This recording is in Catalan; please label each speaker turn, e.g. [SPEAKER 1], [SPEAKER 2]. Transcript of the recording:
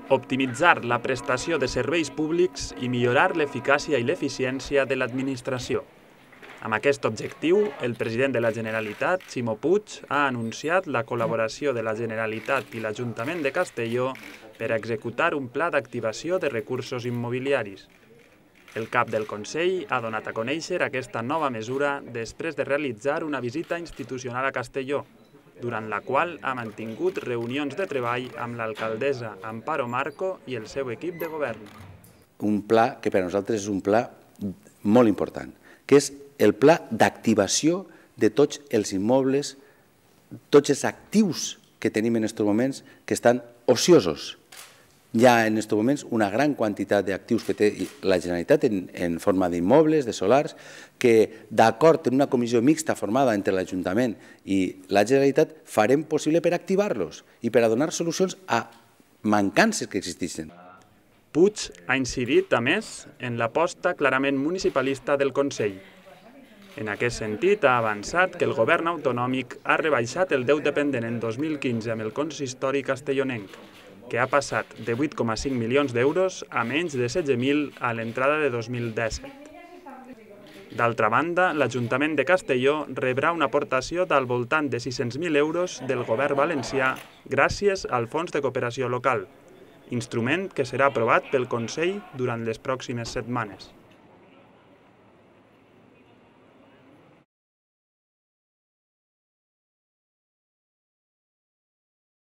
[SPEAKER 1] optimitzar la prestació de serveis públics i millorar l'eficàcia i l'eficiència de l'administració. Amb aquest objectiu, el president de la Generalitat, Ximo Puig, ha anunciat la col·laboració de la Generalitat i l'Ajuntament de Castelló per executar un pla d'activació de recursos immobiliaris. El cap del Consell ha donat a conèixer aquesta nova mesura després de realitzar una visita institucional a Castelló, durant la qual ha mantingut reunions de treball amb l'alcaldessa Amparo Marco i el seu equip de govern.
[SPEAKER 2] Un pla que per a nosaltres és un pla molt important, que és el pla d'activació de tots els immobles, tots els actius que tenim en aquests moments que estan ociosos. Hi ha en aquests moments una gran quantitat d'actius que té la Generalitat en forma d'immobles, de solars, que d'acord amb una comissió mixta formada entre l'Ajuntament i la Generalitat farem possible per activar-los i per a donar solucions a mancances que existeixen.
[SPEAKER 1] Puig ha incidit, a més, en l'aposta clarament municipalista del Consell. En aquest sentit, ha avançat que el govern autonòmic ha rebaixat el deute pendent en 2015 amb el consistori castellonenc, que ha passat de 8,5 milions d'euros a menys de 16.000 a l'entrada de 2017. D'altra banda, l'Ajuntament de Castelló rebrà una aportació del voltant de 600.000 euros del govern valencià gràcies al Fons de Cooperació Local, instrument que serà aprovat pel Consell durant les pròximes setmanes.